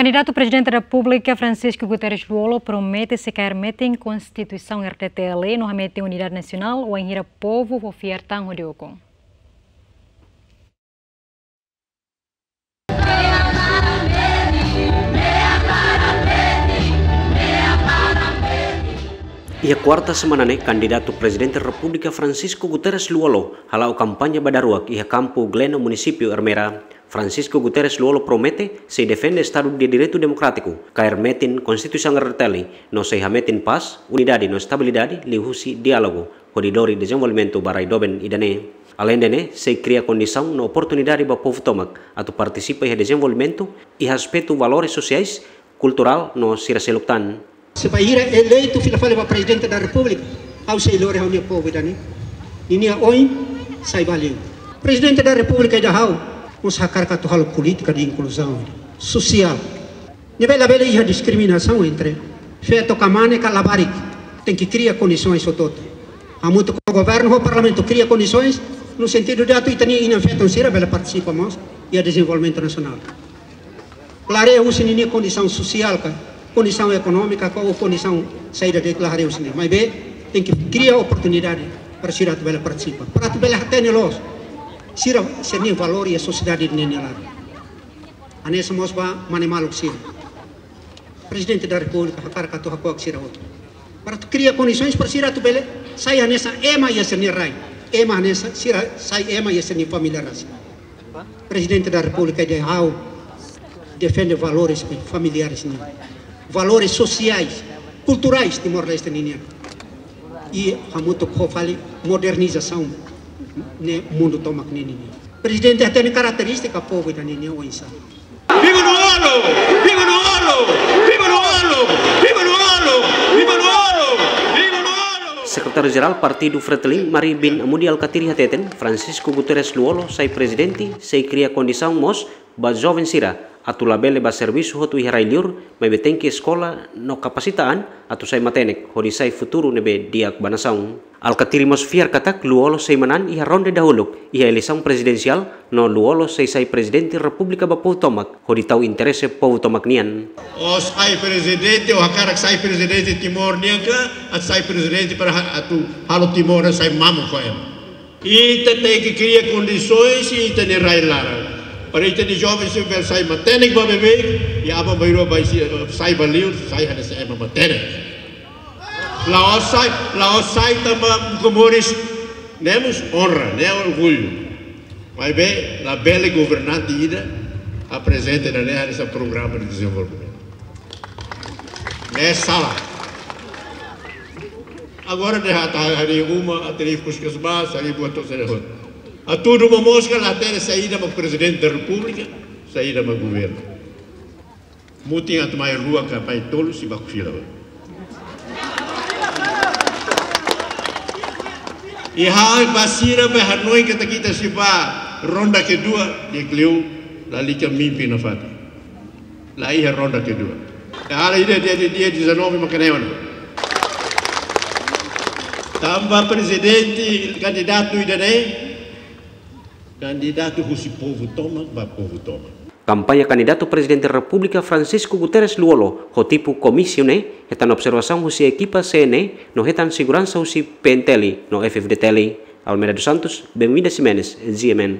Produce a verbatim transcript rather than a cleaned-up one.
Kandidatu Prezidente Repúblika Francisco Guterres Lú-Olo promete sei kaer metin Konstituisaun R D T L no hametin unidade nasionál wainhira povu fó fiar tan hodi ukun. Iha kuarta semana ne'e, kandidatu Prezidente Repúblika Francisco Guterres Lú-Olo hala'o kampaña ba daruak iha kampu Gleno, munisípiu Ermera. Francisco Guterres Lú-Olo promete sei defende Estadu de Direitu Demokrátiku, kaer metin Konstituisaun R D T L, no sei hametin pás, unidade no estabilidade liuhusi diálogu, hodi lori dezenvolvimentu ba rai doben ida-ne'e. Aleinde ne'e, sei kria kondisaun no oportunidade ba povu tomak atu partisipa iha dezenvolvimentu iha aspetu valores sosiais, kulturál no sira seluk tan. Se bainhira eleitu fila fali ba Prezidente da Repúblika, ha'u sei lori ha'u-nia povu ida-ne'e, ninia oin sai ba liur. Prezidente da Repúblika ida ha'u mós hakarak atu halo polítika de inkluzaun sosiál. Ne'ebé labele iha diskriminasaun entre feto ka mane ka labarik. Tenke kria kondisoens hotu-hotu. Hamutuk ho governu ho parlamentu kria kondisoens no sentidu de atu ita-nia inan-feton sira bele partisipa mós iha dezenvolvimentu nasionál. Klareia husi ninia kondisaun sosiál ka, kondisaun ekonómika ka, ou kondisaun saida de'it, klareia husi ne'e. Maibé tenke kria oportunidade para sira atu bele partisipa, para atu bele hatene loos sira, sira-nia valór iha sosiedade ne'e nia laran. Hanesan mós ba mane-maluk sira. Prezidente da Repúblika hakarak atu hako'ak sira hotu, para atu kria kondisoens para sira atu bele sai hanesan ema iha sira-nia rai, ema hanesan sira sai ema iha sira-nia família rasik. Prezidente da Repúblika ida ha'u defende valores familiares nian, valores sosiais, kulturais Timor-Leste ninian. I hamutuk ho fali modernizasaun ne'e mundu tomak ninian. Prezidente hatene karakterístika povu ida-ne'e nia oinsá. Viva Lú-Olo! Viva Lú-Olo! Viva Lú-Olo! Viva Lú-Olo! Viva Lú-Olo! Viva Lú-Olo! Sekretáriu Jerál Partidu Fretilin, Mari bin Amudi Alkatiri hateten, Francisco Guterres Lú-Olo sai prezidente sei kria kondisaun mós ba joven sira atu labele bá servisu hotu iha rai liur, maibé tenke eskola no kapasita an atu sai matenek hodi sai futuru ne'ebé di'ak ba nasaun. Alkatiri mós fiar katak Lú-Olo sei manán iha ronde dahuluk iha eleisaun prezidensiál, no Lú-Olo sei sai Prezidente Repúblika ba povu tomak hodi tau interese povu tomak nian. Ó sai prezidente, ó hakarak sai prezidente Timor nian ka, atu sai prezidente para ha-, atu halo Timor sai mamuk ho ema. Ita tenke kria kondisoens iha ita-nia rai laran, para ita-nia joven sira bele sai matenek ba beibeik, i aban-bainrua bá sai, sai ba liur, sai hanesan ema matenek. La'ós sai, la'ós sai tanba buka moris, ne'e mós onra, ne'e orgullu. Maibé labele governante ida aprezenta ida-ne'e hanesan programa de dezenvolvimentu. Ne'e sala. Agora dehan atu harii uma, atu harii Puskesmas, harii buat hotu, saida hotu. Hatudu momoos ka la hatene saida mak Prezidente da Repúblika, saida mak governu. Mutin atu mai rua ka mai tolu sei baku fila. I ha'u ba sira be hanoin katak ita sei bá ronda kedua, di'ak liu, lalika mimpi nafatin. La iha ronda kedua. Ita halo ida dia, dia, dia dezanove maka ne'e ona. Tanba prezidente kandidatu ida-ne'e, kandidatu husi povu tomak ba povu tomak. Kampaña kandidatu Prezidente Repúblika Francisco Guterres Lú-Olo ho tipu komísiu ne'e hetan observasaun husi ekipa C N E no hetan seguransa husi P N T L no F F D T L. Almeida dos Santos, Benvinda Ximenes, G M N.